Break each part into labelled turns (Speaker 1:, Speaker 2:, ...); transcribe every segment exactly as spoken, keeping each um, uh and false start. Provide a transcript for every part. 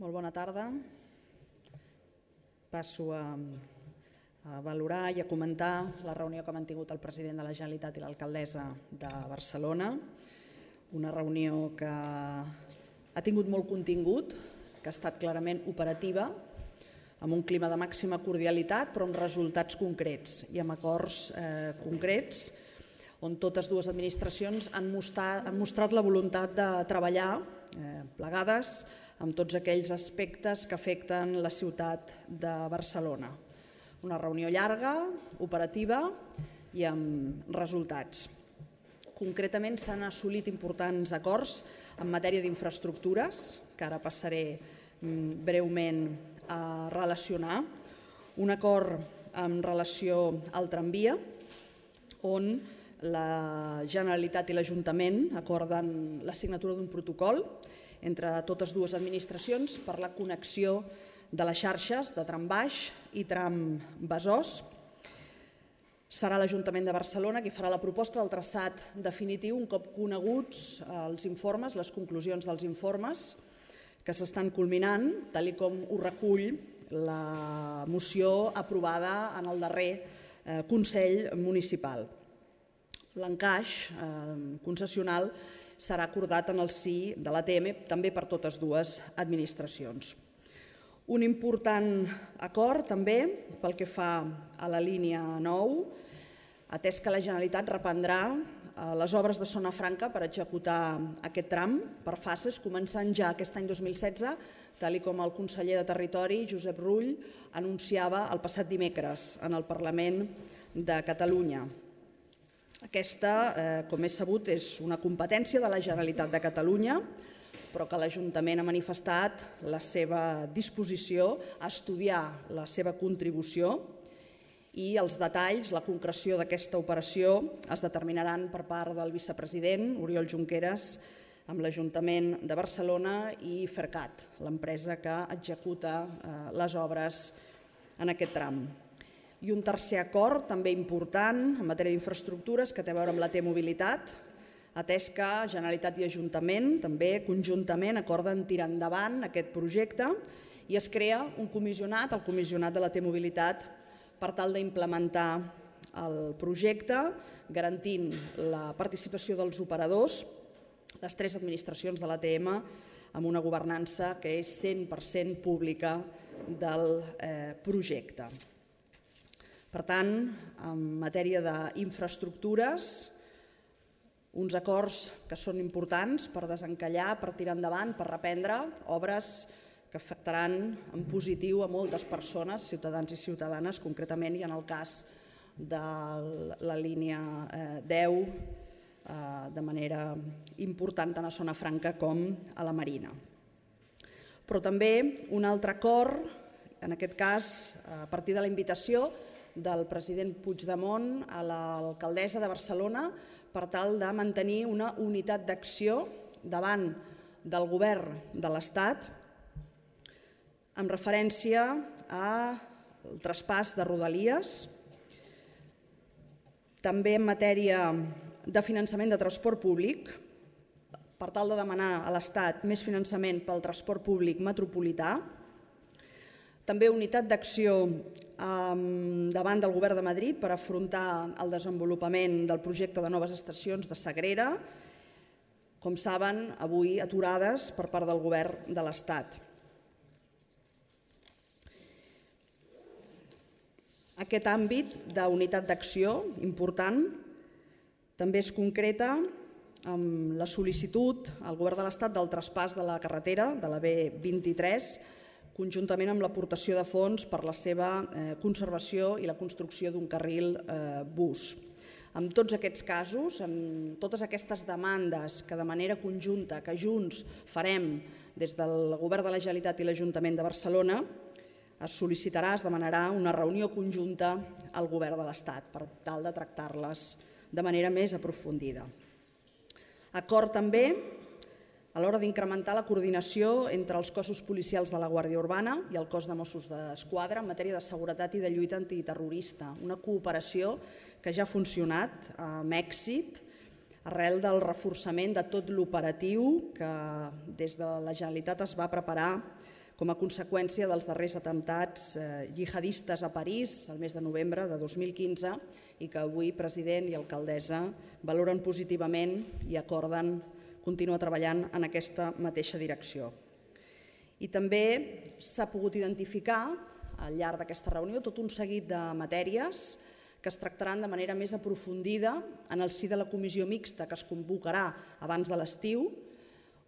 Speaker 1: Molt bona tarda. Passo a, a valorar i a comentar la reunió que ha mantingut el president de la Generalitat i l'alcaldessa de Barcelona. Una reunió que ha tingut molt contingut, que ha estat clarament operativa, amb un clima de màxima cordialitat, però amb resultats concrets i amb acords eh, concrets, on totes dues administracions han mostrat, han mostrat la voluntat de treballar eh, plegades amb tots aquells aspectes que afecten la ciutat de Barcelona. Una reunió llarga, operativa i amb resultats. Concretament s'han assolit importants acords en matèria d'infraestructures, que ara passaré breument a relacionar. Un acord en relació al tramvia, on la Generalitat i l'Ajuntament acorden la signatura d'un protocol entre totes dues administracions per la connexió de les xarxes de tram baix i tram Besòs. Serà l'Ajuntament de Barcelona qui farà la proposta del traçat definitiu un cop coneguts els informes, les conclusions dels informes que s'estan culminant, tal com ho recull la moció aprovada en el darrer Consell Municipal. L'encaix concessional serà acordat en el si de l'A T M, també per totes dues administracions. Un important acord també pel que fa a la línia nou, atès que la Generalitat reprendrà les obres de Zona Franca per executar aquest tram per fases, començant ja aquest any dos mil setze, tal com el conseller de Territori, Josep Rull, anunciava el passat dimecres en el Parlament de Catalunya. Aquesta, com és sabut, és una competència de la Generalitat de Catalunya, però que l'Ajuntament ha manifestat la seva disposició a estudiar la seva contribució i els detalls, la concreció d'aquesta operació es determinaran per part del vicepresident Oriol Junqueras amb l'Ajuntament de Barcelona i Fercat, l'empresa que executa les obres en aquest tram. I un tercer acord, també important, en matèria d'infraestructures, que té a veure amb la T-Mobilitat, atès que Generalitat i Ajuntament també conjuntament acorden tirar endavant aquest projecte i es crea un comissionat, el comissionat de la T-Mobilitat, per tal d'implementar el projecte, garantint la participació dels operadors, les tres administracions de l'A T M, amb una governança que és cent per cent pública del projecte. Per tant, en matèria d'infraestructures, uns acords que són importants per desencallar, per tirar endavant, per reprendre obres que afectaran en positiu a moltes persones, ciutadans i ciutadanes, concretament, i en el cas de la línia deu, de manera important tant a Zona Franca com a la Marina. Però també un altre acord, en aquest cas a partir de la invitació del president Puigdemont a l'alcaldessa de Barcelona per tal de mantenir una unitat d'acció davant del govern de l'Estat amb referència al traspàs de Rodalies, també en matèria de finançament de transport públic, per tal de demanar a l'Estat més finançament pel transport públic metropolità, també unitat d'acció davant del Govern de Madrid per afrontar el desenvolupament del projecte de noves estacions de Sagrera, com saben, avui aturades per part del Govern de l'Estat. Aquest àmbit d'unitat d'acció important també es concreta amb la sol·licitud al Govern de l'Estat del traspàs de la carretera, de la B vint-i-tres, conjuntament amb l'aportació de fons per la seva conservació i la construcció d'un carril bus. En tots aquests casos, en totes aquestes demandes que de manera conjunta, que junts farem des del Govern de la Generalitat i l'Ajuntament de Barcelona, es sol·licitarà, es demanarà una reunió conjunta al Govern de l'Estat per tal de tractar-les de manera més aprofundida. Acord també a l'hora d'incrementar la coordinació entre els cossos policials de la Guàrdia Urbana i el cos de Mossos d'Esquadra en matèria de seguretat i de lluita antiterrorista, una cooperació que ja ha funcionat amb èxit arrel del reforçament de tot l'operatiu que des de la Generalitat es va preparar com a conseqüència dels darrers atemptats jihadistes a París el mes de novembre de dos mil quinze i que avui president i alcaldessa valoren positivament i acorden continuar treballant en aquesta mateixa direcció. I també s'ha pogut identificar al llarg d'aquesta reunió tot un seguit de matèries que es tractaran de manera més aprofundida en el si de la comissió mixta que es convocarà abans de l'estiu,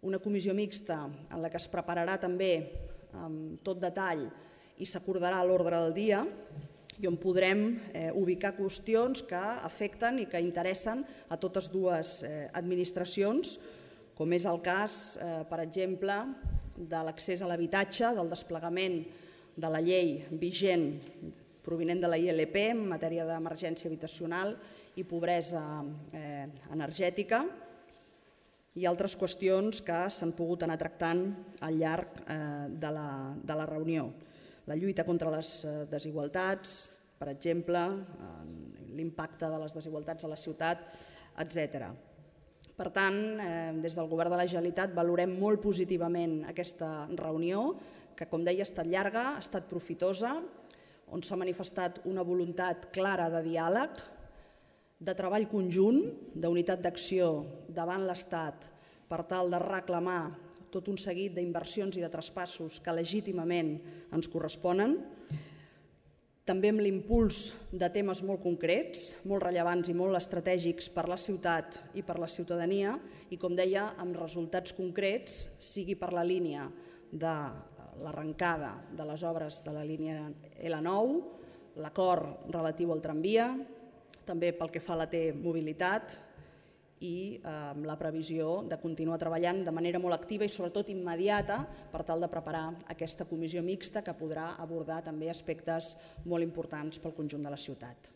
Speaker 1: una comissió mixta en la que es prepararà també amb tot detall i s'acordarà l'ordre del dia i on podrem ubicar qüestions que afecten i que interessen a totes dues administracions, com és el cas, per exemple, de l'accés a l'habitatge, del desplegament de la llei vigent provinent de la I L P en matèria d'emergència habitacional i pobresa energètica i altres qüestions que s'han pogut anar tractant al llarg de la reunió. La lluita contra les desigualtats, per exemple, l'impacte de les desigualtats a la ciutat, etcètera. Per tant, des del Govern de la Generalitat valorem molt positivament aquesta reunió, que, com deia, ha estat llarga, ha estat profitosa, on s'ha manifestat una voluntat clara de diàleg, de treball conjunt, d'unitat d'acció davant l'Estat per tal de reclamar tot un seguit d'inversions i de traspassos que legítimament ens corresponen, també amb l'impuls de temes molt concrets, molt rellevants i molt estratègics per la ciutat i per la ciutadania i, com deia, amb resultats concrets, sigui per la línia de l'arrencada de les obres de la línia L nou, l'acord relatiu al tramvia, també pel que fa a la T-mobilitat i amb la previsió de continuar treballant de manera molt activa i sobretot immediata per tal de preparar aquesta comissió mixta que podrà abordar també aspectes molt importants pel conjunt de la ciutat.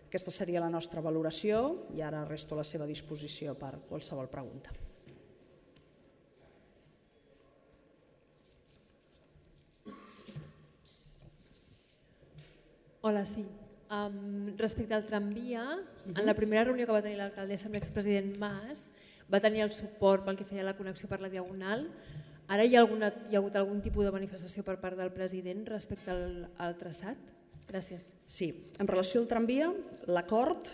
Speaker 1: Aquesta seria la nostra valoració i ara resto a la seva disposició per qualsevol pregunta.
Speaker 2: Hola, sí. Um, respecte al tramvia, uh-huh. en la primera reunió que va tenir l'alcaldessa amb l'expresident Mas va tenir el suport pel que feia la connexió per la Diagonal. Ara hi ha, alguna, hi ha hagut algun tipus de manifestació per part del president respecte al, al traçat? Gràcies.
Speaker 1: Sí, en relació al tramvia, l'acord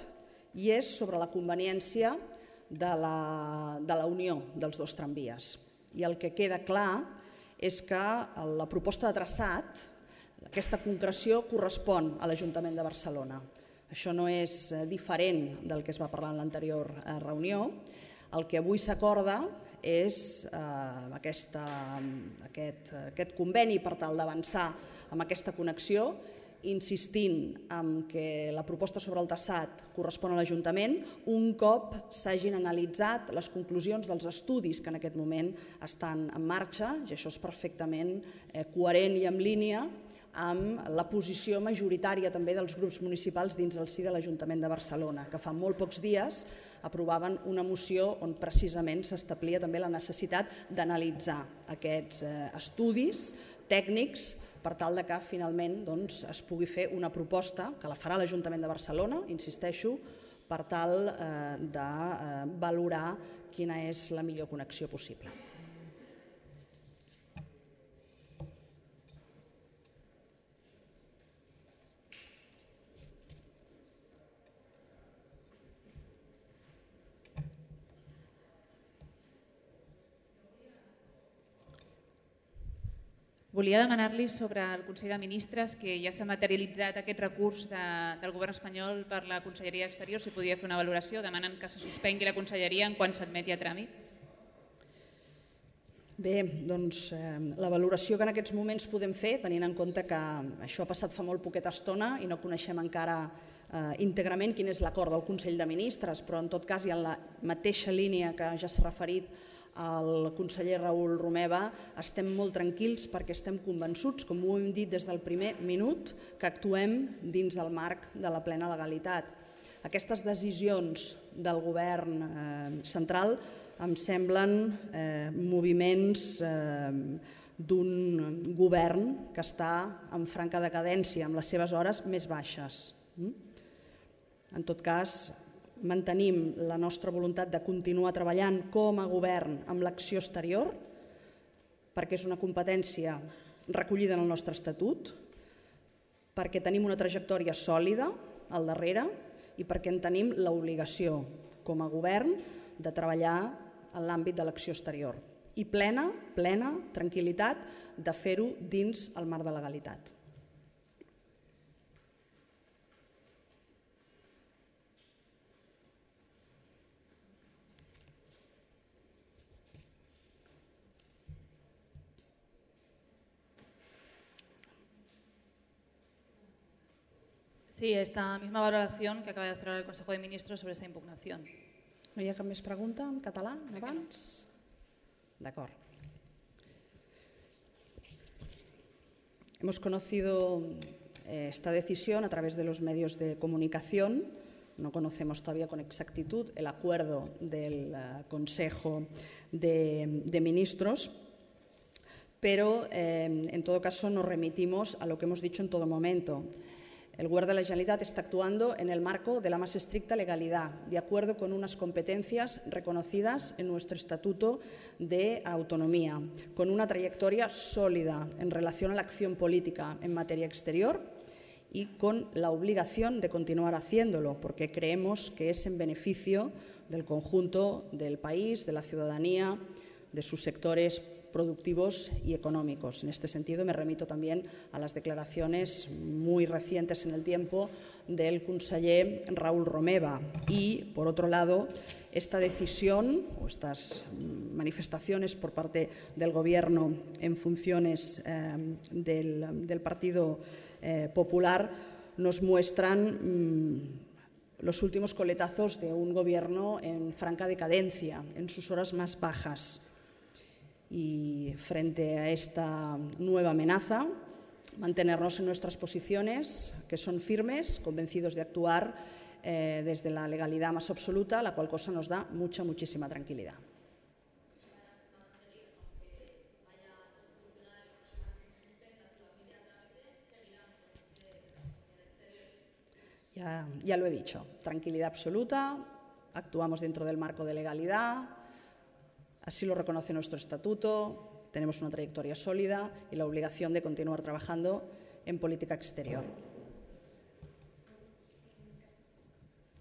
Speaker 1: hi és sobre la conveniència de la, de la unió dels dos tramvies. I el que queda clar és que la proposta de traçat, aquesta concreció correspon a l'Ajuntament de Barcelona. Això no és diferent del que es va parlar en l'anterior reunió. El que avui s'acorda és eh, aquesta, aquest, aquest conveni per tal d'avançar amb aquesta connexió, insistint en que la proposta sobre el traçat correspon a l'Ajuntament un cop s'hagin analitzat les conclusions dels estudis que en aquest moment estan en marxa, i això és perfectament eh, coherent i en línia amb la posició majoritària també dels grups municipals dins el si de l'Ajuntament de Barcelona, que fa molt pocs dies aprovaven una moció on precisament s'establia també la necessitat d'analitzar aquests estudis tècnics per tal que finalment doncs, es pugui fer una proposta que la farà l'Ajuntament de Barcelona, insisteixo, per tal eh, de eh, valorar quina és la millor connexió possible.
Speaker 3: Volia demanar-li sobre el Consell de Ministres, que ja s'ha materialitzat aquest recurs de, del govern espanyol per la Conselleria d'Exteriors, si podia fer una valoració, demanen que se suspengui la Conselleria en quan s'admeti a tràmit.
Speaker 1: Bé, doncs eh, la valoració que en aquests moments podem fer, tenint en compte que això ha passat fa molt poqueta estona i no coneixem encara eh, íntegrament quin és l'acord del Consell de Ministres, però en tot cas i en la mateixa línia que ja s'ha referit el conseller Raül Romeva, estem molt tranquils perquè estem convençuts, com ho hem dit des del primer minut, que actuem dins el marc de la plena legalitat. Aquestes decisions del govern eh, central em semblen eh, moviments eh, d'un govern que està en franca decadència, amb les seves hores més baixes. En tot cas, mantenim la nostra voluntat de continuar treballant com a govern amb l'acció exterior, perquè és una competència recollida en el nostre estatut, perquè tenim una trajectòria sòlida al darrere i perquè en tenim l'obligació com a govern de treballar en l'àmbit de l'acció exterior i plena, plena tranquil·litat de fer-ho dins el marc de legalitat.
Speaker 4: Sí, esta misma valoración que acaba de hacer el Consejo de Ministros sobre esta impugnación.
Speaker 1: No hi ha cap més pregunta en català abans? D'acord. Hemos conocido esta decisión a través de los medios de comunicación. No conocemos todavía con exactitud el acuerdo del Consejo de, de Ministros, pero eh, en todo caso nos remitimos a lo que hemos dicho en todo momento. El Govern de la Generalitat está actuando en el marco de la más estricta legalidad, de acuerdo con unas competencias reconocidas en nuestro Estatuto de Autonomía, con una trayectoria sólida en relación a la acción política en materia exterior y con la obligación de continuar haciéndolo, porque creemos que es en beneficio del conjunto del país, de la ciudadanía, de sus sectores productivos y económicos. En este sentido, me remito también a las declaraciones muy recientes en el tiempo del conseller Raúl Romeva. Y, por otro lado, esta decisión o estas manifestaciones por parte del Gobierno en funciones eh, del, del Partido eh, Popular nos muestran mmm, los últimos coletazos de un Gobierno en franca decadencia, en sus horas más bajas. Y frente a esta nueva amenaza, mantenernos en nuestras posiciones, que son firmes, convencidos de actuar eh, desde la legalidad más absoluta, la cual cosa nos da mucha, muchísima tranquilidad. Ya, ya lo he dicho, tranquilidad absoluta, actuamos dentro del marco de legalidad. Así lo reconoce nuestro estatuto, tenemos una trayectoria sólida y la obligación de continuar trabajando en política exterior.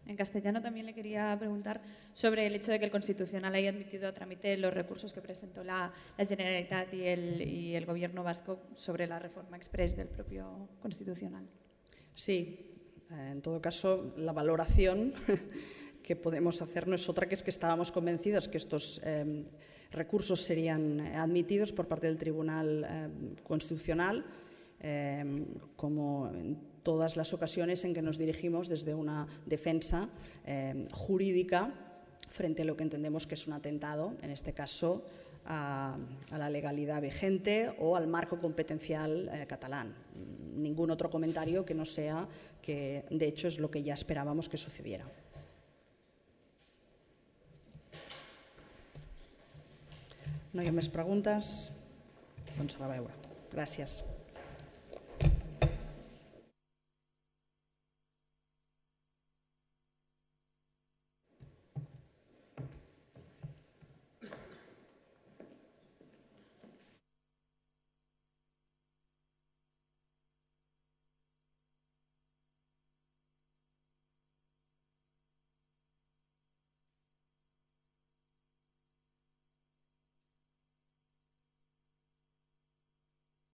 Speaker 5: En castellano también le quería preguntar sobre el hecho de que el Constitucional haya admitido a trámite los recursos que presentó la, la Generalitat y el, y el Gobierno vasco sobre la reforma express del propio Constitucional.
Speaker 1: Sí, en todo caso, la valoración que podemos hacer no es otra que es que estábamos convencidos que estos eh, recursos serían admitidos por parte del Tribunal eh, Constitucional, eh, como en todas las ocasiones en que nos dirigimos desde una defensa eh, jurídica frente a lo que entendemos que es un atentado, en este caso a, a la legalidad vigente o al marco competencial eh, catalán. Ningún otro comentario que no sea que, de hecho, es lo que ya esperábamos que sucediera. No hi ha més preguntes? Doncs a la veure. Gràcies.